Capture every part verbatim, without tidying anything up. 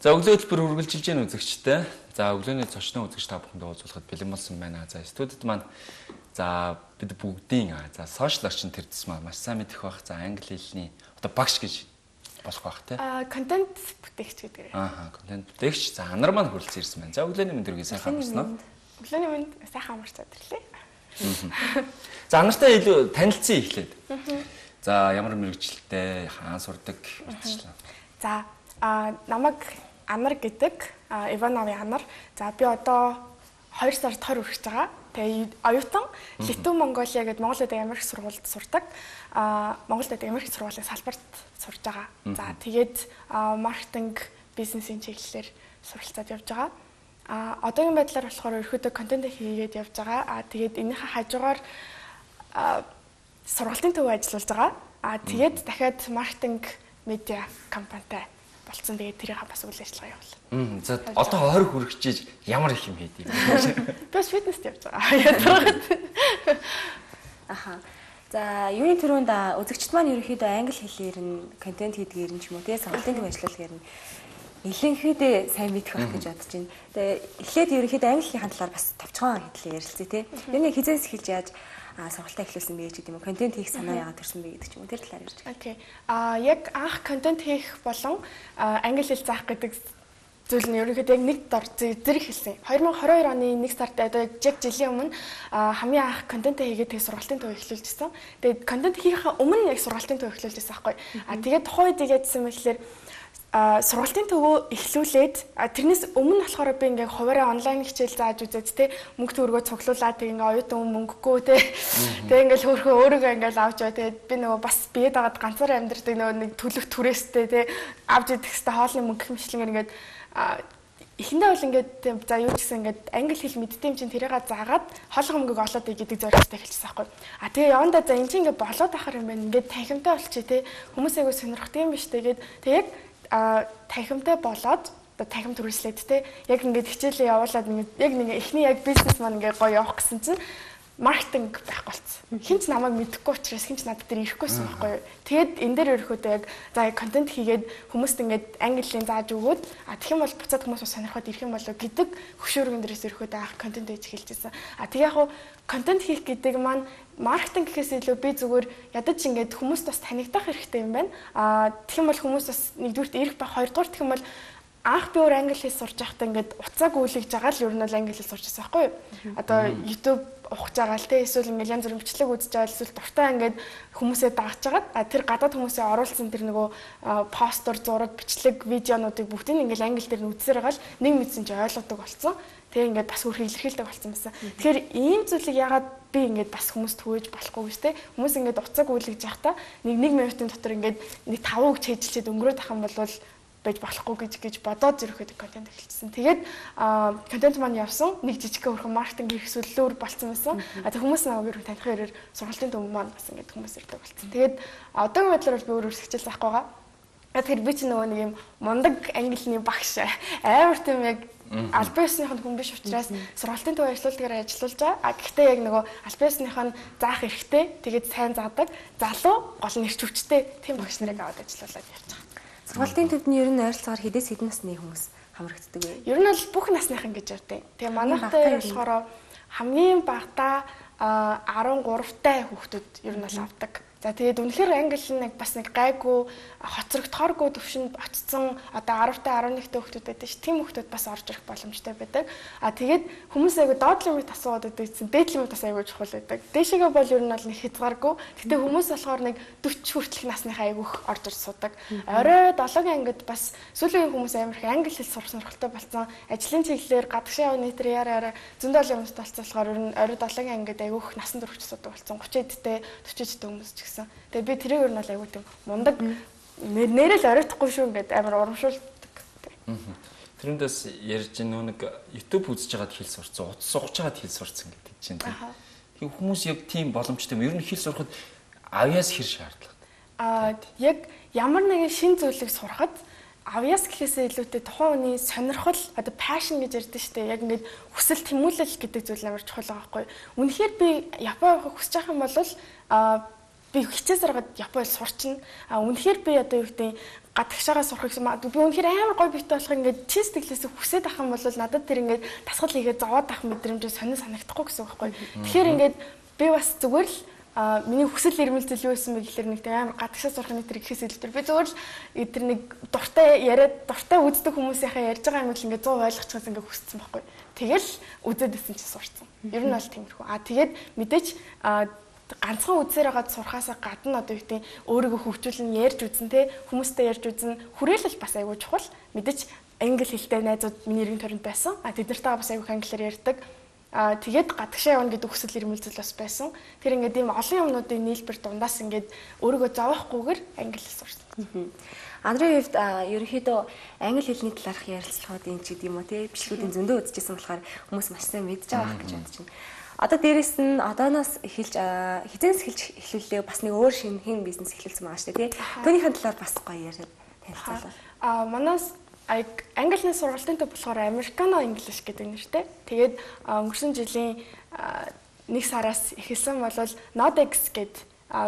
За өглөө хөтөлбөр үргэлжилж гэн үзэгчтэй. За өглөөний зочноо үзэгч та бүхэндээ уулзахад бэлэн болсон байна. За студид маань за бид бүгдийн за сошиал орчин тэр дэс маань маш сайн мэдэх бах. За англи хэлний одоо багш гэж болох бах тий. Аа контент бүтээгч гэдэг. Аа контент бүтээгч. За анар маань хүрэлцэн ирсэн байна. За өглөөний мэнд үргээ сайхан амарсан уу? Өглөөний мэнд сайхан амарч өдөрлөө. За анартай илүү танилцсан эхлээд. За ямар мэрэгчлэлтэй хаан сурдаг мэдчихлээ. За а намайг Анар гэдэг Иванови Анар. За би одоо хоёр сард тойр үргэж байгаа. Тэгээ оюутан Литв Монголиа гэдэг Монгол Улсын Америк сургуульд сурдаг. А Монгол Улсын Америк сургуулийн салбарт сурж байгаа. За тэгээд маркетинг, бизнесийн чиглэлээр суралцаад явж байгаа. А одоогийн байдлаар болохоор ерөөдөө контент хийгээд явж байгаа. А тэгээд энэхээ хажуугаар сургалтын төв ажиллаж байгаа. А тэгээд дахиад маркетинг медиа компанитай болцсон. Тэгээд тэрийг бас үйл ажиллагаа явуулна. За одоо хойр хүрчихэж ямар их юм хийдэг юм. Би бас фитнест явж байгаа. Ядраад. Аха. За юуны төрөнд үзэгчд маань ерөнхийдөө англи хэлээр нь контент хийдгээр нь ч юм уу тэгээ сургалтын төв ажиллалагаар нь илэнхийдээ сайн мэдэх байх гэж бодож байна. Тэгээ эхлээд ерөнхийдөө англи хэлний талаар бас товчхон хэдлээ ярилцъя те. Юу нэг хизээс эхэлж яаж а сургалтаа эхлүүлсэн бэ гэдэг юм уу? Контент хийх санаа яагаад төрсөн бэ гэдэг ч юм уу? Тэр талаар ярьж байна. Окей. А яг анх контент хийх болон англи хэл заах гэдэг зүйл нь ерөнхийдөө яг нэг дор зэрэг хэлсэн. хоёр мянга хорин хоёр оны нэг сард одоо яг жилийн өмнө хамгийн анх контент хийгээд тэгээ сургалтын төв эхлүүлжсэн. Тэгээд контент хийхээ өмнө яг сургалтын төв эхлүүлжсэн байхгүй. А тэгээд тухайд яадсан мэтлэр а сургалтын төвөө эхлүүлээд тэрнээс өмнө болохоор би ингээ хуваараа онлайн хичээл зааж үзээд те мөнгө төгрөгөө цуглуулад тэг ингээ оюутан мөнгөгүй те тэг ингээ хөрхөө өөрийгөө ингээ авч яваа. Тэгээд би нөгөө бас биед агаад ганцаараа амьдрдаг нөгөө нэг төлөх түрээстэй те авч идэх хэвээр хоолны мөнгө хэмжлэнгээр ингээ эхэндээ бол ингээд за юу ч гэсэн ингээд англи хэл мэддэм чинь тэрийгээ заагаад хоолой мөнгөг олоод игээд зорилготой хэлчихсэн байхгүй. А тэгээ явандаа за энэ чинь ингээд болоод ахаар юм байна. Ингээд танхимтай болчих те хүмүүс айгу сонирхдаг юм биш тэгээд тэг яг а танхимтай болоод одоо танхим төрүүлээд те яг ингээд хичээлээ явуулаад ингээд яг нэг эхний яг бизнес маань ингээд гоё явах гэсэн чинь маркетинг байх болцсон. Хинч намайг мэдэхгүй учраас хинч надад дээр ирэхгүйсэн байхгүй юу. Тэгээд энэ дээр өрхөөдөө яг за контент хийгээд хүмүүст ингээд английн зааж өгөөд а тэгэх юм бол буцаад хүмүүс сонирхоод ирэх юм болоо гэдэг хөшөөргөн дээрээс өрхөөдөө анх контент хийж эхэлжсэн. А тэг яг хуу контент хийх гэдэг маань маркетинг гэхээс илүү би зүгээр ядаж ингээд хүмүүст бас танигдах хэрэгтэй юм байна. А тэгэх юм бол хүмүүс бас нэгдүгürt ирэх ба хоёрдугаар тэгэх юм бол анх би өөр англи хэл сурч байхдаа ингээд уцааг үйлгэж байгаа л ер нь бол англи хэл сурчсан байхгүй юу. Одоо YouTube ухаж байгаа л те эсвэл ингээд янз бүрийн бичлэг үзэж байгаа эсвэл дуртай ингээд хүмүүсээ дагаж байгаа. А тэр гадаад хүмүүсээ оруулсан тэр нөгөө постэр, зураг, бичлэг, видеонуудыг бүгдийг ингээд англи дээр нь үзсээр байгаа л нэг мэдсэн чи ойлгодог болсон. Тэгээ ингээд бас өөр илэрхийлдэг болсон байсан. Тэгэхээр ийм зүйлийг ягаад би ингээд бас хүмүүст түгэж болохгүй гэж те хүмүүс ингээд уцааг үйлгэж байхдаа нэг нэг минутын дотор ингээд нэг таван үг чийжилчихэд өнгөрөөд ах юм бол байж болохгүй гэж гэж бодоод зөрөхөд контент эхэлсэн. Тэгээд контент маань явсан. Нэг жижиг хөрхөн маркетинг хэрэгсүүлэлөөр болцсон байсан. А тэг хүмүүс намайг ер нь таних хэрээр сургалтын төв маань бас ингээд хүмүүс ирдэг болцсон. Тэгээд одоогийн байдлаар би өөр өөр хичээл заахгүй байгаа. Тэгэхээр би ч нөгөө нэг юм мундаг англиний багш амар тийм яг албан ёсныхын хүн биш учраас сургалтын төв ажиллуулгаар ажиллаж байгаа. А гэхдээ яг нөгөө албан ёсныхын заах эрхтэй тэгээд сайн заадаг залуу гол нэрч хүчтэй тийм багш нарыг аваад ажиллуулад явж байгаа. Сургалтын төвдний ер нь ойролцоогоор хэдээс хэдэн насны хүмүүс хамрагддаг вэ? Ер нь бол бүх насныхан гэж ярьдаг. Тэгээ манайхтай болохоор хамгийн багадаа арван гуравтай хүүхдүүд ер нь бол авдаг. За тэгээд үнэхээр англи нэг бас нэг гайгүй хоцрогдохооргүй төвшөнд очсон одоо аравтай арван нэгтэй хүүхдүүд байдаг ш. Тим хүүхдүүд бас орж ирэх боломжтой байдаг. А тэгээд хүмүүс айгу доод лимит асуугаад байдаг гэсэн дээд лимит бас айгу чухал байдаг. Дээшээгээ бол ер нь бол нэг хязгааргүй. Гэтэ хүмүүс болохоор нэг дөрвөн хүртэлх насныхаа айгуух орж ирж суудаг. Орой долоогийн ангид бас сүүлийн хүмүүс амар их англи хэл сурах сонирхолтой болсон. Ажлын чиглэлээр гадагшаа явна нэтэр яараа зөндөл юмс толцоолохоор ер нь орой долоогийн ангид айгуух насан турш суудаг болсон. гурван эдтэй дөрвөн эдтэй хүмүүс гэсэн. Тэгээ би тэрийг ер нь бол айгуу тийм мундаг нэрэл оройтхгүй шүү ингээд амар урамшуулдаг. Тэрнээс ярьж нөө нэг YouTube үзэж байгаад хэл сурцсан, утас сугаж байгаад хэл сурцсан гэдэг чинь тийм. Тийм хүмүүс яг тийм боломжтой юм. Ер нь хэл сурахад авьяас хэр шаардлагатай. Аа яг ямар нэгэн шин зүйлийг сурахад авьяас гэхээсээ илүүтэй тухайн хүний сонирхол одоо passion гэж ярьдэн штэ яг ингээд хүсэл тэмүүлэл гэдэг зүйл амар чухал байгаа байхгүй. Үнэхээр би Япон явах хүсэж байгаа юм бол аа би би хичээсээр Японд сурчна. А үнэхээр би одоо юу гэдэг гадагшаага сурах гэсэн би үнэхээр амар гоё битээ болох ингээд чи сэтгэлээсээ хүсээд ах юм бол надад тэр ингээд дасгал хийгээд зовоод ах мэдрэмж сонир санагдахгүй гэсэн үг байхгүй. Тэгэхээр ингээд би бас зүгээр л а миний хүсэл эрмэлзэл юу байсан бэ гэхээр нэг амар гадагшаа сурахны тэр ихээс илүүтэй би зөвхөн л тэр нэг дуртай яриад дуртай үздэг хүмүүсийнхээ ярьж байгаа юм л ингээд зов ойлгочихсан ингээд хүссэн байхгүй. Тэгэл үзээд исэн чи сурцсан. Ер нь бол тиймэрхүү. А тэгээд мэдээч ганцхан үзээр байгаа сурхаасаа гадна одоо юу гэдэг өөрийгөө хөгжүүлэн ярьж үзэн те хүмүүстэй ярьж үзэн хүрээлэл бас айгүй чухал. Мэдээч англи хэлтэй найзууд миний эргэн тойронд байсан. А тэд нартай бас айгүй англиар ярьдаг. А тэгээд гадагшаа явна гэдэг хүсэл эрмэлзэл бас байсан. Тэр ингээд ийм олон юмнуудын нийлбэр дундаас ингээд өөрийгөө зовоохгүйгээр англи хэл сурсан. Андрын хувьд ерөнхийдөө англи хэлний талаарх ярилцлагуудын ч гэдэм үү те бичлэгүүдийн зөндөө үзчихсэн болохоор хүмүүс маш сайн мэдж байгаа гэж бодож байна. Одоо дээрэс нь одооноос эхэлж хизээс эхэлж эхлүүлээ бас нэг өөр шинэ хэн бизнес эхлүүлсэн байгаа шүү дээ тий. Түүнийхэн талаар бас гоё яриад танилцуулаа. А манаас англи сургалтын төв болохоор Americano English гэдэг нэртэй. Тэгээд өнгөрсөн жилийн нэг сараас эхэлсэн бол Nodex гэдэг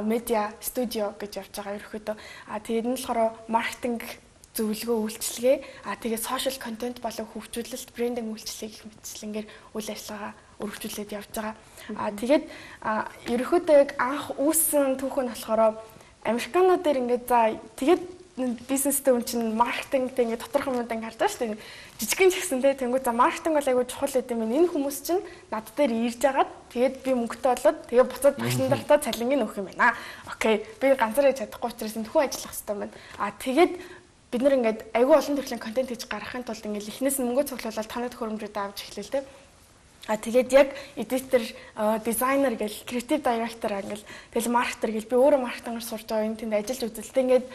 медиа студио гэж явж байгаа ерөөхдөө. А тэгээд энэ болохоор маркетинг зөвлөгөө үйлчилгээ, а тэгээд social content болон хөгжүүлэлт, брендинг үйлчилгээг гэх мэтчлэнгээр үйл ажиллагаа өргөжүүлээд явж байгаа. А тэгээд ерөөхдөө яг анх үүссэн түүх нь болохоор Americano дээр ингээд за тэгээд бизнестэй хүн чинь маркетингтэй ингээд тодорхой юмд ингээд харж байгаа шүү дээ. Жижигэн ч гэсэн тэнгуү за маркетинг бол айгүй чухал гэдэг юм. Энэ хүмүүс чинь над дээр ирж агаад тэгээд би мөнгөтэй болоод тэгээд буцаад багш нартаа цалингийн өгөх юм байна. Окей. Би ганцаараа чадахгүй учраас энэ хүн ажиллах хэрэгтэй байна. А тэгээд бид нэр ингээд айгүй олон төрлийн контент хийж гаргахын тулд ингээд эхнээс нь мөнгө цуглуулаад танай төхөөрөмжүүд авч эхлэв тэ. А тэгээд яг эдитер, дизайнер гэл креатив директор англ тэгэл маркетер гэл би өөрөө маркетингээр сурж байгаа энэ тэнд ажиллаж үзэлтэй ингээд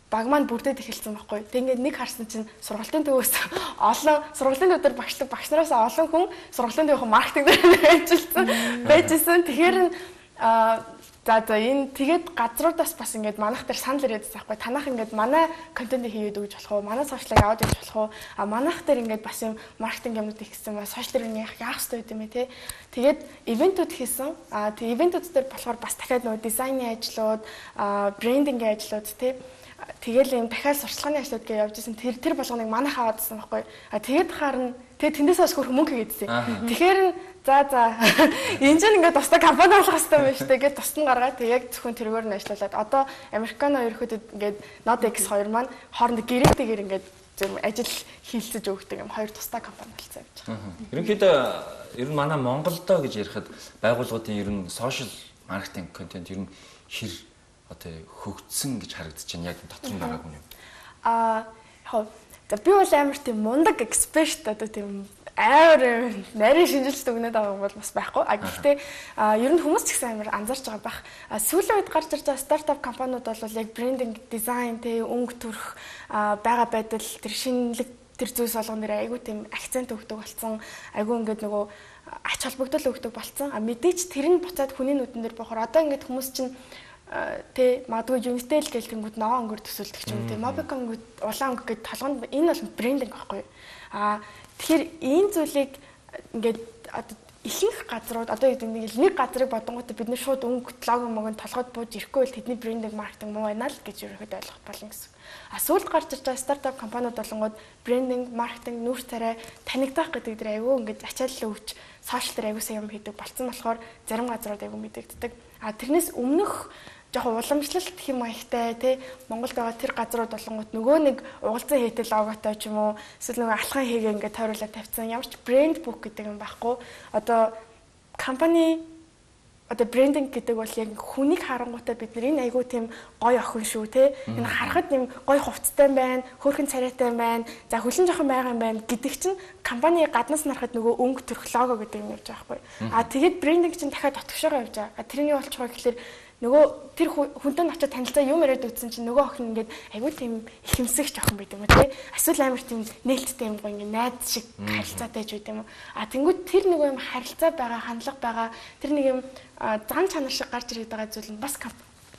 баг маань бүрдээд эхэлсэн байхгүй. Тэг ингээд нэг харсан чинь сургалтын төвөөс олон сургалтын төвдөр багшлаг багш нараас олон хүн сургалтын төвийн маркетинг дээр ажилласан байжсэн. Тэгэхээр а за за энэ тэгээд газруудаас бас ингээд манайх дээр санал ирээд байгаа байхгүй. Танах ингээд манай контент хийгээд өгч болох уу? Манай сошиалыг аваад өгч болох уу? А манайх дээр ингээд бас юм маркетинг юмнууд ихсэн ба сошиал дээр яах яах хэрэгтэй юм бэ те. Тэгээд ивентүүд хийсэн. А тэг ивентүүд дээр болохоор бас дахиад нөгөө дизайны ажлууд, а брендингийн ажлууд те. Тэгэл юм дахиад сурчлагын ажлууд гэж явж исэн. Тэр тэр болгоныг манайх аваадсан байхгүй. А тэгээд харна тэгээд тэндээс бас хөрх мөнгө хийгээдсэн. Тэгэхээр за за энэ ч ингээд тусдаа компани болох хэрэгтэй байна шүү дээ гэж тусдан гаргаад тэг яг зөвхөн тэргээр нь ажиллаад одоо Americano ерөөхдөө ингээд Nodex хоёр маань хоорондоо гэрээтэйгээр ингээд зөв ажил хийлцэж өгдөг юм хоёр тусдаа компани болсон явж байгаа. Ерөнхийдөө ер нь манай Монголдоо гэж ярихад байгууллагуудын ер нь social marketing content ер нь хэр одоо хөгжсөн гэж харагдаж байна яг дотор нь байгаагүй юм. Аа яг за би бол амар тийм мундаг эксперт одоо тийм амар нарийн шинжилт өгнөд байгаа бол бас байхгүй. А гэхдээ ер нь хүмүүс ч гэсэн амар анзаарч байгаа байх. Сүүлийн үед гарч ирж байгаа стартап компаниуд бол яг брендинг, дизайн, тэ өнгө төрх байгаа байдал тэр шинэлэг тэр зүйлс болгон нэр айгүй тийм акцент өгдөг болсон. Айгүй ингээд нөгөө ач холбогдол өгдөг болсон. А мэдээч тэр нь буцаад хүний нүдэн дээр бохор одоо ингээд хүмүүс чинь тэ магадгүй Unitel гэл тэнгууд ногоон өнгөөр төсөөлдөг ч юм тэ Mobicom улаан өнгө гэдэг толгонд энэ бол брендинг байхгүй. А тэгэхээр энэ зүйлийг ингээд одоо ихэнх газрууд одоо нэг нэг газрыг бодонгууд бид нэр шууд өнгө лого мөгөнд толгойд бууж ирэхгүй бол тэдний брендинг маркетинг муу байна л гэж ерөөхдөө ойлгох болно гэсэн. А сүүлд гарч ирж байгаа стартап компаниуд болонгууд брендинг, маркетинг, нүүр царай танигдах гэдэг дээр аягүй ингээд ачаалал өгч сошиал дээр аягүй сайн юм хийдэг болцсон болохоор зарим газрууд аягүй мэдэгддэг. А тэрнээс өмнөх жоохон уламжлалт хэм маягтай тий Монголд байгаа тэр газрууд болонгууд нөгөө нэг угалзан хийтэл логотой ч юм уу эсвэл нөгөө алхан хийгээ ингээд тойруулаад тавьсан ямар ч брэнд бук гэдэг юм байхгүй. Одоо компани одоо брендинг гэдэг бол яг хүнийг харангуйтай бид нар энэ айгүй тийм гоё охин шүү тий энэ харахад юм гоё хувцастай байна, хөөрхөн царайтай байна, за хөлн жоохон байгаа юм байна гэдэг чинь компани гаднаас нарахад нөгөө өнгө төрх лого гэдэг юм явж байгаа байхгүй. А тэгээд брендинг чинь дахиад дотгошоогоо явж байгаа. Тэрний болчихгоо гэхэлэр нөгөө тэр хүнтэй очиод танилцаа юм яриад үзсэн чинь нөгөө охин ингээд айгүй тийм ихэмсэгч охин байт юм уу тий эсвэл амар тийм нээлттэй юм гоо ингээд найз шиг харилцаатай ч байт юм уу а тэнгууд тэр нөгөө юм харилцаа байгаа хандлага байгаа тэр нэг юм зан чанар шиг гарч ирээд байгаа зүйл нь бас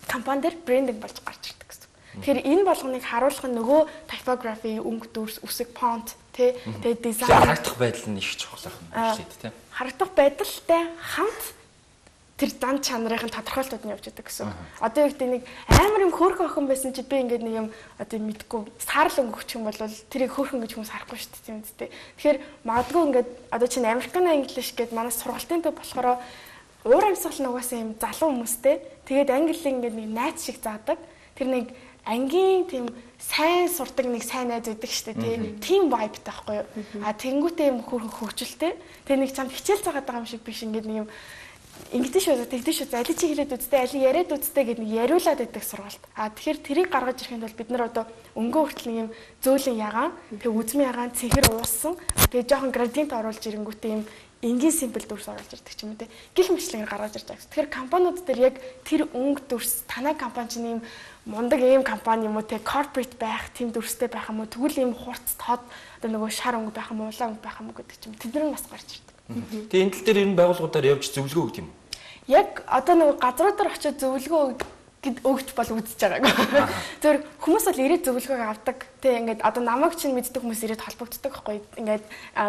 компани дээр брендинг болж гарч ирдэг гэсэн. Тэгэхээр энэ болгоныг харуулах нь нөгөө typography, өнгө дүрс, үсэг, font тий тэгээ дизайн харагдах байдал нь их чухал юм байна тий. Харагдах байдалтай хамт тэр зан чанарын тодорхойлолтууд нь явж байгаа гэсэн. Одоо яг тийм нэг амар юм хөөрхөн охин байсан чи би ингээд нэг юм одоо мэдгүй саарл өнгөгч юм бол тэрийг хөөрхөн гэж хүмүүс харахгүй шүү дээ тийм үстэй. Тэгэхээр магадгүй ингээд одоо чинь American English гэдэг манай сургалтын төв болохоор уур амьсгал нь угаасаа юм залуу хүмүүстэй. Тэгээд английн ингээд нэг найз шиг заадаг. Тэр нэг ангийн тийм сайн сурдаг нэг сайн найз байдаг шүү дээ тийм vibe таахгүй юу. А тэнгуүтэй юм хөөрхөн хөвгчлээ. Тэгээ нэг чамд хичээл заагаад байгаа юм шиг биш ингээд нэг юм ингэдэж шүү тэгдэж шүү аль чи хэлээд үзтээ аль яриад үзтээ гэдэг нэг яриулаад байдаг сургалт. А тэгэхээр тэрийг гаргаж ирэхэд бол бид нар одоо өнгөө хүртэл нэг юм зөөлөн ягаан тэгээ үзмэн ягаан цэнхэр уусан тэгээ жоохон градиент оруулж ирэнгүүтээ юм энгийн симпл дүрс оруулж ирдэг ч юм уу те гих мэтлэгээр гаргаж ирж байгаа. Тэгэхээр компаниуд дээр яг тэр өнгө дүрс танай компани чинь юм мундаг ийм компани юм уу те корпорейт байх тийм дүрстэй байх юм уу тэгвэл ийм хурц тод одоо нөгөө шар өнгө байх юм уу улаан өнгө байх юм уу гэдэг ч юм тэд нар бас гарч ирдэг. Тэгээ энэ тал дээр энэ байгууллагуудаар явж зөвлөгөө өгд юм. Яг одоо нөгөө газруудаар очиод зөвлөгөө өгч бол үзэж байгаагүй. Зөвхөн хүмүүс бол ирээд зөвлөгөө авдаг. Тэ ингээд одоо намайг чинь мэддэг хүмүүс ирээд холбогддог байхгүй. Ингээд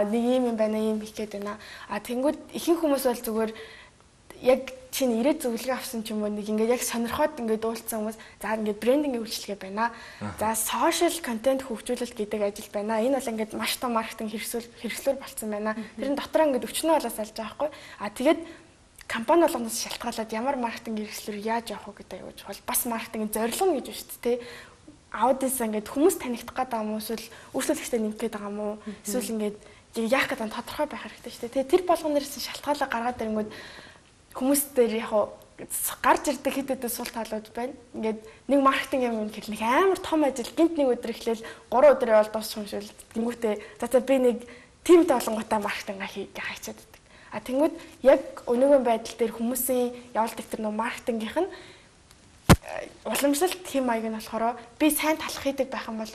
нэг юм юм байна, юм хийх гээд байна. А тэнгууд ихэнх хүмүүс бол зүгээр яг чинь ирээд зөвлөгөө авсан ч юм уу нэг ингээд яг сонирхоод ингээд уулзсан хүмүүс за ингээд брендингийн үйлчилгээ байна. За social content хөгжүүлэлт гэдэг ажил байна. Энэ бол ингээд маш том маркетинг хэрэгсэл хэрэгслүүр болцсон байна. Тэрэн дотор ингээд өчнөө болоос алж байгаа байхгүй. А тэгээд компани болгоноос шалтгаалаад ямар маркетинг хэрэгслүүр яаж явах вэ гэдэг аюул чухал. Бас маркетингийн зорилго нь гэж байна шүү дээ. Аудиенс ингээд хүмүүс танигдах гэдэг юм уу эсвэл үйлчлэгчтэй нэмэх гэдэг юм уу? Эсвэл ингээд яах гэдэг нь тодорхой байх хэрэгтэй шүү дээ. Тэр болгоноос шалтгаалаа гаргаад ирэнгүүт хүмүүс дээр яг гарч ирдэг хэд хэдэн сул талууд байна. Ингээд нэг маркетинг юм гэхэл нэг амар том ажил гинт нэг өдөр эхлээл гурван өдөр явал дуусах юм шиг л тэнгүүтээ за за би нэг тимд олонготой маркетинг хийх гэж хайчаад байдаг. А тэнгүүд яг өнөөгийн байдал дээр хүмүүсийн явуулдаг тэр нөө маркетингийнх нь уламжлалт хэм маяг нь болохоор би сайн талах хийдэг байх юм бол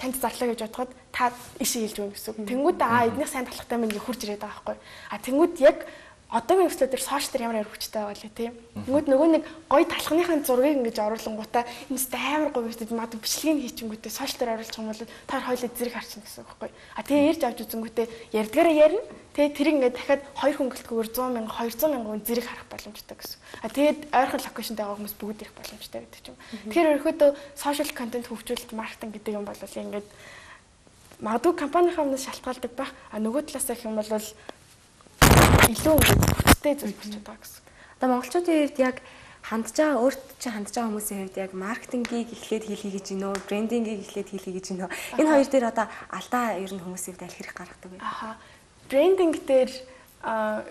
танд зарлаа гэж бодоход та ишээ хэлж өгнө гэсэн. Тэнгүүд аа эднийх сайн талахтай мэн хурж ирээд байгаа байхгүй. А тэнгүүд яг одоогийн өсөлтөд төр сошиал дээр ямар хөвчтэй байгаа лээ тийм. Тэнгүүд нөгөө нэг гоё талхныхын зургийг ингэж оруулангуудаа энэ амар гоё үстэд мад бичлэгийг хийчихэнгүүтээ сошиал дээр оруулах юм бол та хоёулаа зэрэг харчихна гэсэн үг байхгүй. А тэгээ ярьж авч үзэнгүүтээ ярдгаараа ярина. Тэгээ тэр ингээд дахиад хоёр хөнгөлтгөөр сто мянга двести мянган зэрэг харах боломжтой гэсэн. А тэгээд ойрхон локейшнтэй байгаа хүмүүс бүгд ирэх боломжтой гэдэг ч юм. Тэгэхээр өөрөөдөө сошиал контент хөгжүүлэлт маркетинг гэдэг юм бол ингээд магадгүй компанийнхаа өмнөөс шалтгаалдаг байх. А нөгөө талаас гэх юм бол илүү хүчтэй зүйл болж байгаа гэсэн. Одоо монголчуудын хувьд яг хандж байгаа өөрт чинь хандж байгаа хүмүүсийн хувьд яг маркетингийг эхлээд хийлхий гэж гинөө, брендингийг эхлээд хийлхий гэж гинөө. Энэ хоёр дээр одоо алдаа ер нь хүмүүсийн хувьд аль хэрэг гаргадаг вэ? Аха. Брендинг дээр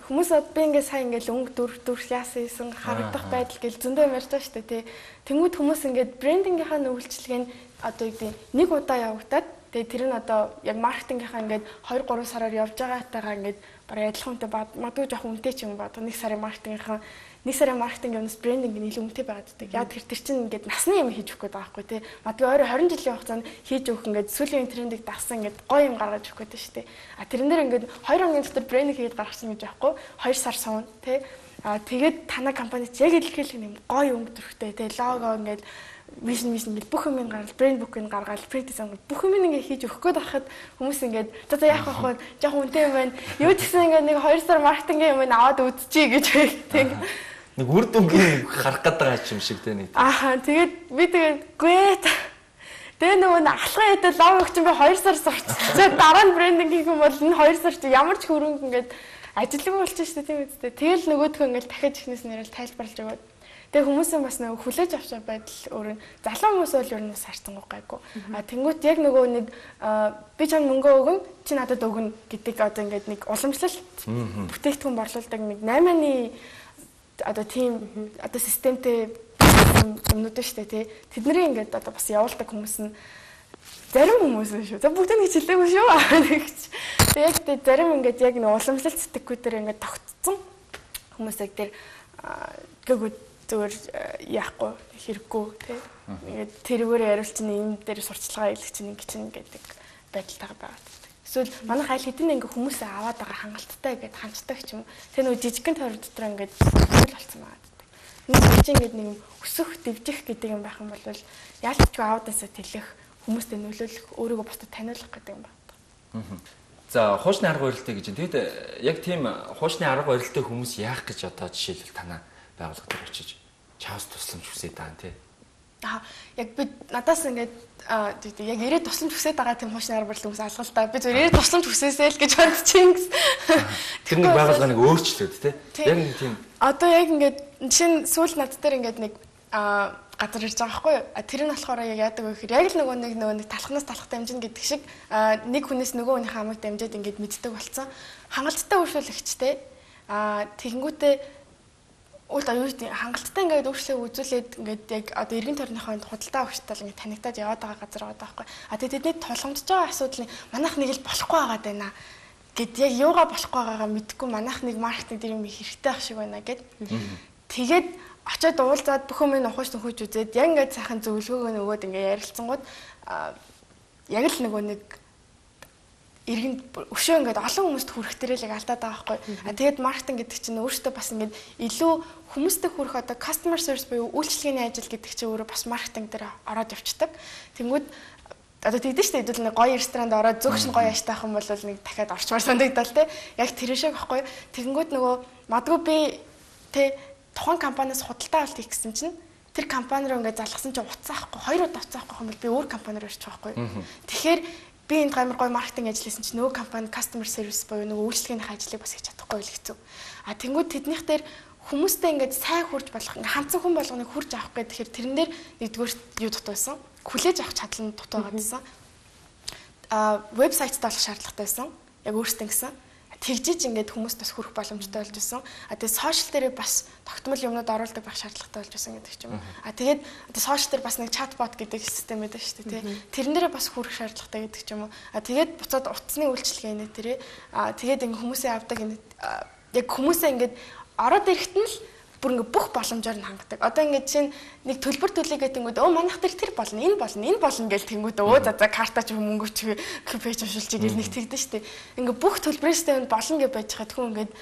хүмүүс одоо би ингээд сайн ингээд өнгө дүр дүр яасан юм харагдах байдал гэл зөндөө ярьж байгаа шүү дээ тий. Тэнгүүд хүмүүс ингээд брендингийнхаа нөвөлчлөгийг одоо юу гэдэг нэг удаа явагдаад тэгээ тэр нь одоо яг маркетингийнхаа ингээд хоёр гурван сараар явж байгаатайгаа ингээд бараг адилхан үнэтэй магадгүй жоох үнэтэй ч юм ба одоо нэг сарын маркетингийнхаа нэг сарын маркетинг юмс брендинг нь илүү үнэтэй байгаад байдаг. Яг тэр тэр чинь ингээд насны юм хийж өгөх гээд байгаа байхгүй тий. Магадгүй өөрөө двадцать жилийн хугацаанд хийж өгөх ингээд сүүлийн трендийг дагсан ингээд гоё юм гаргаж өгөх гээд шүү дээ. А тэрэн дээр ингээд хоёр хоногийн дотор брендинг хийж гаргасан гэж байхгүй хоёр сар суун тий. А тэгээд танай компанид яг илэрхийлэх юм гоё өнгө төрхтэй тий. Лого ингээд вижн вижн ингээд бүх юм гаргал брэнд бүкийг гаргаад пред дизайн бүх юм ингээд хийж өгөх гээд байхад хүмүүс ингээд за за яах вэ жоохон үнэтэй юм байна. Юу ч гэсэн ингээд нэг хоёр сар маркетинг юм аваад үзчихье гэж тэг. Нэг үр дүнгийн харах гэдэг юм шиг тэ нэг. Аа тэгээд би тэгээд гээ тэгээ нөгөө алхаа хэдэл лог өгч би хоёр сар сурчсан. Дараа нь брендинг хийх юм бол энэ хоёр сар чи ямар ч хөрөнгө ингээд ажилгүй болчих шүү дээ тийм үстэй. Тэгэл нөгөөдхөө ингээд дахиад ихнээс нэрэл тайлбарлаж өгөөд тэгээ хүмүүсийн бас нөгөө хүлээж авч байдал өөр нь залуу хүмүүс бол ер нь бас харцангуй гайгүй. А тэнгуут яг нөгөө нэг би чам мөнгө өгөн чи надад өгнө гэдэг одоо ингээд нэг уламжлалт бүтээгдэхүүн борлуулдаг нэг наймааны одоо тийм одоо системтэй юмнууд шүү дээ тий. Тэдний ингээд одоо бас явуулдаг хүмүүс нь зарим хүмүүс шүү. За бүгд нэг хэлээгүй шүү. Тэгээ яг тэ зарим ингээд яг нэг уламжлалт сэтгэхүй дээр ингээд тогтцсон хүмүүсийг тэр гэгүүд зүгээр яахгүй хэрэггүй тий. Ингээд тэрүүгээр яриулчихна энэ дээр сурчлагаа илгэчихнэ ингэ чинь гэдэг байдалтайгаа байгаа. Эсвэл манайх аль хэдийн ингээ хүмүүсээ аваад байгаа хангалттай гэдэг ханддаг ч юм. Тэр нөгөө жижигхэн тойрог дотор ингээд зүйл болсон байгаа. Нэг чинь ингээд нэг өсөх, дэвжих гэдэг юм байх юм бол яалтчгүй аудасаа тэлэх, хүмүүстэй нөлөөлөх, өөрийгөө бусдад таниулах гэдэг юм байна. За хуучны арга барилтай гэж. Тэгэд яг тийм хуучны арга барилтай хүмүүс яах гэж одоо жишээлбэл танаа байгууллага дээр очиж чаас тусламж хүсээд байгаа тий. Аа яг би надаас ингээд яг ирээд тусламж хүсээд байгаа тийм хуучны арга барил хүмүүс алгалтай. Би зөв ирээд тусламж хүсээсэй л гэж бодчихин гэсэн. Тэр нэг байгууллагыг өөрчлөөд тий. Яг нэг тийм. Одоо яг ингээд жишээ нь сүүл над дээр ингээд нэг аа газар ирж байгаа байхгүй юу? Тэр нь болохоор яг яадаг вэ гэхээр яг л нөгөө нэг нөгөө нэг талхнаас талхад дамжина гэдэг шиг нэг хүнээс нөгөө хүний хамаг дамжаад ингээд мэддэг болсон. Хангалттай үйлчлэгчтэй аа тэгэнгүүтээ үл аюултай хангалттай ингээд өөрчлөө үзүүлээд ингээд яг одоо эргэн тойрныхоо худалдаа өгчтөл ингээд танигдаад яваад байгаа газар байгаа байхгүй. А тэгээд тэдний тулгамдж байгаа асуудлыг манайх нэг л болохгүй байгаа даа гэд яг юугаа болохгүй байгаагаа мэдхгүй манайх нэг маркетинг дээр юм хэрэгтэй ах шиг байна гэд. Тэгээд очоод уулзаад бүх юм ухаж төнхөж үзээд яг ингээд сайхан зөвлөгөөгөө нөгөөд ингээд ярилцсангууд яг л нөгөө нэг иргэн өшөө ингээд олон хүмүүст хүрэх төрөлийг алдаад байгаа байхгүй. А тэгээд маркетинг гэдэг чинь өөртөө бас ингээд илүү хүмүүстэй хүрэх одоо customer service буюу үйлчлэгээний ажил гэдэг чинь өөрөө бас маркетинг дээр ороод явцдаг. Тэнгүүд одоо тэгдэж штэ хэдүүл нэг гоё ресторанд ороод зөвхөн гоё аштай ах юм бол нэг дахиад орчмаар санагдал те. Яг тэр шиг байхгүй. Тэгэнгүүт нөгөө магадгүй би те тухайн компаниас худалдаа авалт хийх гэсэн чинь тэр компани руу ингээд залгасан чинь уцаахгүй хоёр удаа уцаахгүй юм бол би өөр компани руу ирчих байхгүй. Тэгэхээр би энд гамар гоё маркетинг ажил хийсэн чинь нөгөө компани customer service буюу нөгөө үйлчлэгээний ажлыг бас хийж чадахгүй л хэцүү. А тэнгууд тэднийх дээр хүмүүстэй ингээд сайн хурж болох ингээд ханцсан хүн болгоныг хурж авах гэхээр тэрэн дээр нэгдүгээр юу дутуусан хүлээж авах чадлын дутуугаад байсан. А вебсайттай болох шаардлагатай байсан. Яг өөртөө гэсэн тэгжиж ингээд хүмүүст бас хүрэх боломжтой болж байсан. А тэгээд сошиал дээр бас тогтмол юмнууд оруулдаг байх шаардлагатай болж байсан гэдэг ч юм. А тэгээд одоо сошиал дээр бас нэг чатбот гэдэг систем байдаг шүү дээ, тий. Тэрэн дээрээ бас хүрэх шаардлагатай гэдэг ч юм уу. А тэгээд буцаад утасны үйлчилгээ нэ тэрэ. А тэгээд ингээд хүмүүсээ авдаг энэ яг хүмүүсээ ингээд ороод ирэхэд нь л бүр ингээд бүх боломжоор нь хангадаг. Одоо ингээд чинь нэг төлбөр төлөйгээд тэнгүүд өө манайх дээр тэр болно, энэ болно, энэ болно гэж тэнгүүд өө за за картач мөнгө чи пэйж уншилчих гэж нэг тэгдэж штэ. Ингээд бүх төлбөрөөсөө болно гэж байж хаад хүн ингээд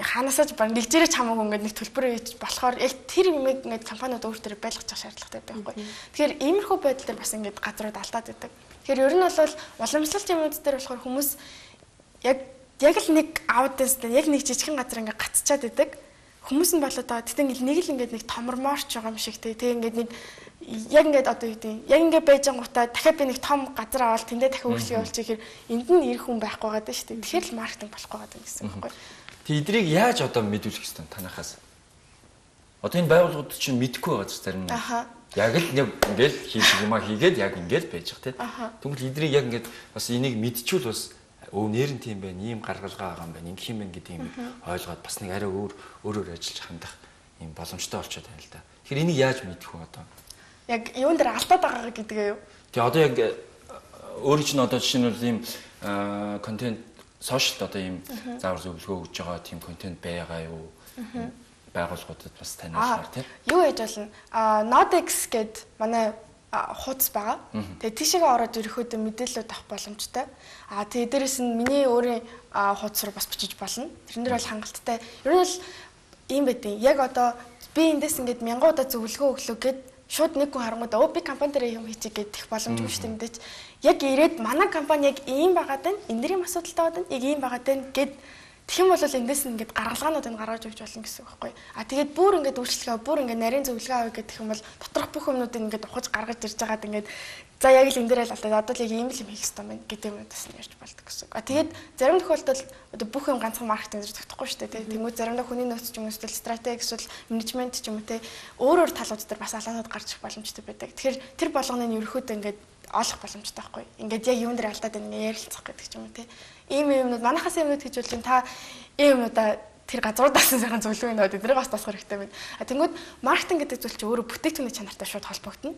ханаасаач баг нэгжээрээ хамаагүй ингээд нэг төлбөр хийж болохоор яг тэр юм ингээд компаниуд өөртөө байлгах шаардлагатай байхгүй. Тэгэхээр иймэрхүү байдал дээр бас ингээд газрууд алдаад байдаг. Тэгэхээр ер нь бол уламжлалт юмуд дээр болохоор хүмүүс яг яг л нэг аудиенс дээр яг нэг жижигхэн газар ингээд гацчаад байдаг. Хүмүүс нь болоод байгаа. Тэгтээ нэг л ингээд нэг томормоорч байгаа юм шиг тий. Тэг ингээд нэг яг ингээд одоо юу гэдэг яг ингээд байж ангуудаа дахиад би нэг том газар аваад тэндээ дахиад үйлчлэг явуулчих гэхээр энд нь ирэх хүн байхгүй байгаа даа шүү дээ. Тэгэхээр л маркетинг болохгүй байгаа гэсэн үг байхгүй. Тэг эдрийг яаж одоо мэдүүлэх ёстой танахаас? Одоо энэ байгууллагууд чинь мэдэхгүй байгаа ч зарим нь. Аха. Яг л нэг ингээд хийх юмаа хийгээд яг ингээд байж байгаа тий. Тэгвэл эдрийг яг ингээд бас энийг мэдчихвэл бас өө нэр нь тийм байна, ийм гаргалгаа байгаа юм байна, ингэх юм байна гэдэг юм ойлгоод бас нэг арай өөр өөрөөр ажиллаж хандах юм боломжтой болчиход байна л да. Тэгэхээр энийг яаж мэдэх вэ одоо? Яг юун дээр алдаад байгаа гэдгээ юу? Тэгээ одоо яг өөрийн чинь одоо жишээлбэл ийм контент сошиалд одоо ийм заавар зөвлөгөө өгж байгаа тийм контент байгаа юу? Байгууллагуудад бас таниулахаар тийм. Юу яаж болно? А Nodex гээд манай хуудас байгаа. Тэгээ тийшээгээ ороод ерөөхдөө мэдээлэлүүд авах боломжтой. А тэгээ дээрэс нь миний өөрийн хуудас руу бас бичиж болно. Тэрэн дээр бол хангалттай. Ер нь бол ийм байдیں۔ Яг одоо би эндээс ингээд мянган удаа зөвлөгөө өглөө гэд шууд нэг хүн харангуудаа өө би компани дээр юм хийчих гэдэг боломжгүй шүү дээ мэдээч. Яг ирээд манай компани яг ийм байгаад байна. Энэ дэрийн асуудалтай байна. Яг ийм байгаад байна гэд тэгэх юм бол эндээс нь ингээд гаргалгаануудыг гаргаж өгч болно гэсэн үг байхгүй. А тэгээд бүр ингээд үйлчлэгээ бүр ингээд нарийн зөвлөгөө авъя гэдэг юм бол доторх бүх юмнуудыг ингээд ухаж гаргаж ирж байгаад ингээд за яг л энэ дээр л алдаад одоо л яг ийм л юм хийх хэрэгтэй байна гэдэг юмудаас нь ярьж болдог гэсэн үг. А тэгээд зарим тохиолдолд одоо бүх юм ганцхан маркетинг дээр тогтохгүй шүү дээ. Тэнгүүд заримдаа хүний нөөц ч юм уу эсвэл стратеги эсвэл менежмент ч юм уу те өөр өөр талууд дээр бас алаанууд гарч ирэх боломжтой байдаг. Тэгэхээр тэр болгоныг ерөөхдөө ингээд олох боломжтой байхгүй. Ингээд яг юун дээр алдаад байна ингээд ярилцах гэдэг ч юм уу те. Ийм юмнууд манайхаас юмнууд хийж болж та ийм юмудаа тэр газруудаас сайхан зөвлөгөө өгнө эднийг бас тасгах хэрэгтэй байна. А тэнгүүд маркетинг гэдэг зүйл чинь өөрөө бүтээгдэхүүний чанартай шууд холбогдно.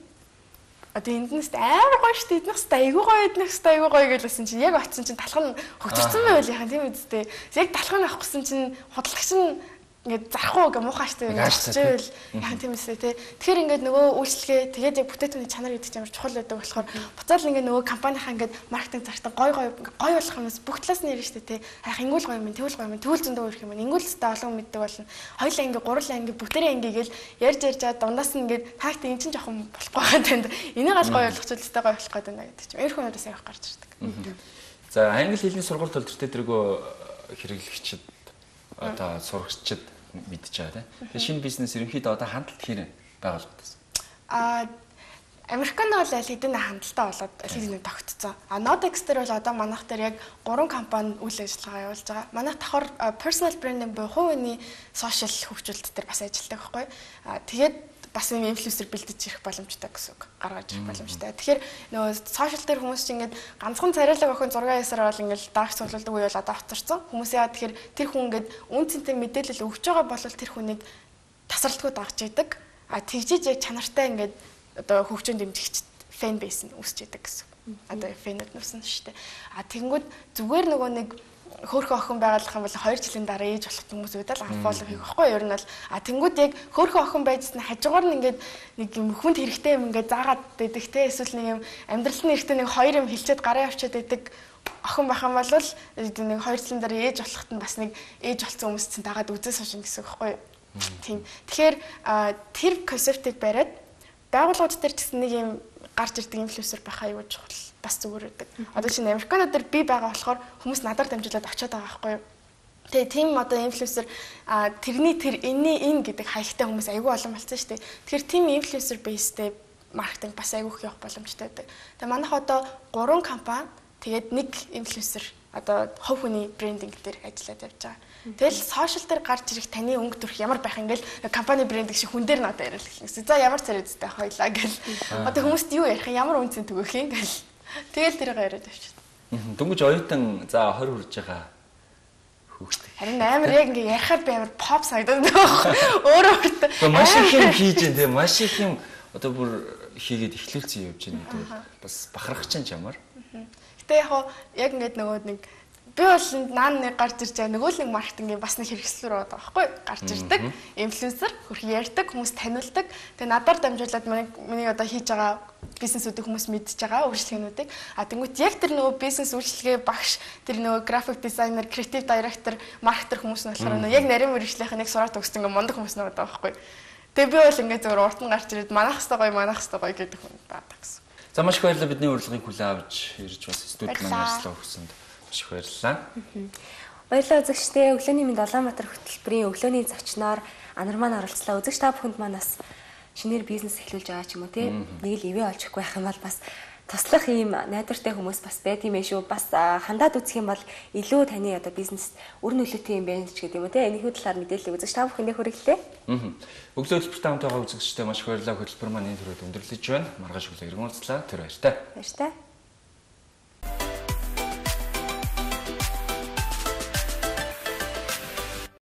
Одоо энднээс амар гоё шүү дээ. Эднээс айгүй гоё эднээс айгүй гоё гэлсэн чинь яг очсон чинь талхан хөгжсөн байвал яхан тийм үстэй. Яг талхан авах гэсэн чинь худалдагч нь ингээд зарахгүй гэ муухайштай явчихвэл яхан тийм үстэй тий. Тэгэхээр ингээд нөгөө үйлчлэгээ тэгээд яг бүтээгдэхүүний чанар гэдэг чинь амар чухал байдаг болохоор буцаал ингээд нөгөө компанийнхаа ингээд маркетинг зартаа гоё гоё гоё болох юмс бүх талаас нь ярина шүү дээ тий. Хайх ингүүл гоё юм, тэгвэл гоё юм, тэгвэл зөндөө өрх юм. Ингүүл өстэй олон мэддэг болно. Хоёлаа ингээд гурлаа ингээд бүтээрээ ингээд гээл ярьж ярьж чад дундаас нь ингээд таагт эн чинь жоохон болохгүй байгаа танд. Энийг аль гоё болгочихвол өстэй гоё болох гэдэг байна гэдэг чинь. Эрх хүнүүдээс явах гарч ирдэг. За англи хэлний сургууль төлөвтэй тэргөө хэрэглэгчид одоо сурагчид мэдж байгаа тийм. Тэгээ шинэ бизнес ерөнхийдөө одоо хандлт хэрэг байгуулагдсан. Аа Американд бол аль хэдийн хандлтаа болоод аль хэдийн тогтцсон. А Nodex дээр бол одоо манайх дээр яг гурван компани үйл ажиллагаа явуулж байгаа. Манайх давхар personal branding буюу хувийн сошиал хөгжүүлэлт дээр бас ажилладаг байхгүй. А тэгээд бас юм инфлюенсер бэлдэж ирэх боломжтой гэсэн үг. Гаргаж ирэх боломжтой. Тэгэхээр нөгөө сошиал дээр хүмүүс чинь ингээд ганцхан царайлаг охин зураг ясаар бол ингээд даагч цуглуулдаг үе бол одоо хоцорсон. Хүмүүс яа тэгэхээр тэр хүн ингээд үн цэнтэй мэдээлэл өгч байгаа бол тэр хүнийг тасралтгүй дагж идэг. А тэгжиж яг чанартай ингээд одоо хөгжөөнд дэмжигч фэн бейс нь үсч идэг гэсэн. Одоо фэнүүд нүсэн шүү дээ. А тэгэнгүүт зүгээр нөгөө нэг хөөрхөн охин байгалах юм бол хоёр жилийн дараа ээж болох хүмүүс үүдэл анфоллоу хийх байхгүй юу? Ер нь бол а тэнгууд яг хөөрхөн охин байжсэн хажуугаар нь ингээд нэг юм хүнд хэрэгтэй юм ингээд заагаад байдаг те эсвэл нэг юм амьдралын хэрэгтэй нэг хоёр юм хилчээд гараа явчаад байдаг охин байх юм бол нэг хоёр жилийн дараа ээж болоход нь бас нэг ээж болсон хүмүүс чинь дагаад үзээс хошин гэсэн үг байхгүй юу? Тийм. Тэгэхээр тэр концептыг бариад байгууллагууд дээр ч гэсэн нэг юм гарч ирдэг инфлюенсер байхаа юу чухал бас зүгээр байдаг. Одоо чинь Американууд дээр би байгаа болохоор хүмүүс надаар дамжуулаад очиод байгаа байхгүй юу. Тэгээ тийм одоо инфлюенсер а тэрний тэр энэний энэ гэдэг хаягтай хүмүүс айгүй олон болсон шүү дээ. Тэгэхээр тийм инфлюенсер бейстэй маркетинг бас айгүй их явах боломжтой байдаг. Тэгээ манайх одоо гурван компани тэгээд нэг инфлюенсер одоо хувь хүний брендинг дээр ажиллаад явж байгаа. Тэгэл сошиал дээр гарч ирэх таны өнгө төрх ямар байх ингээл компани брендинг шиг хүн дээр надад яриад хэлсэн. За ямар царайдтай хоёлаа гэл. Одоо хүмүүст юу ярих юм ямар үнцэн төгөх юм гэл. Тэгэл тэрийг яриад авчихсан. Дөнгөж оюутан за хорь хүрж байгаа хүүхдээ. Харин амар яг ингээ ярихаар би амар pop санагдаад байгаа. Өөрөө өөртөө маш их юм хийж дээ тийм маш их юм одоо бүр хийгээд эхлүүлсэн явж байна гэдэг бас бахархаж чинь чамаар. Гэтэ яг яг ингээд нөгөө нэг би бол наан нэг гарч ирж байгаа нөгөө л нэг маркетингийн бас нэг хэрэгсэл рүү байгаа байхгүй гарч ирдэг инфлюенсер хөрх ярьдаг хүмүүс таниулдаг тэгээ надаар дамжуулаад миний миний одоо хийж байгаа бизнесүүдийг хүмүүс мэдж байгаа үйлчлэгнүүдийг а тэнгуут яг тэр нөгөө бизнес үйлчлэгээ багш тэр нөгөө график дизайнер креатив директор маркетер хүмүүс нь болохоор нөгөө яг нарийн мэргэжлийнх нэг сураад өгсөн ингээ мундаг хүмүүс нэг байгаа байхгүй тэгээ би бол ингээ зөвөр урт нь гарч ирээд манах хэвээр гоё манах хэвээр гоё гэдэг хүн байдаг гэсэн. За маш их баярлалаа бидний урилгыг хүлээн авч ирж бас студид маань ярьслаа өгсөнд. Их баярлалаа. Баярлалаа үзэгчдээ. Өглөөний мэнд Улаанбаатар хөтөлбөрийн өглөөний зочноор Анар маань оролцлоо. Үзэгч та бүхэнд маань бас шинээр бизнес эхлүүлж байгаа ч юм уу те. Нэг л ивэ олж өгөх байх юм бол бас туслах ийм найдвартай хүмүүс бас байд юм ээ шүү. Бас хандаад үзэх юм бол илүү таны одоо бизнес үр нөлөөтэй юм байна ч гэдэг юм уу те. Энэхүү талаар мэдээлэл үзэгч та бүхэндээ хүргэлээ. Аа. Өглөө хөтөлбөртэй хамт байгаа үзэгчдээ маш их баярлалаа. Хөтөлбөр маань энэ төрөд өндөрлөж байна. Маргааш өглөө иргэн уулзлаа. Тэр баяртай. Баяртай.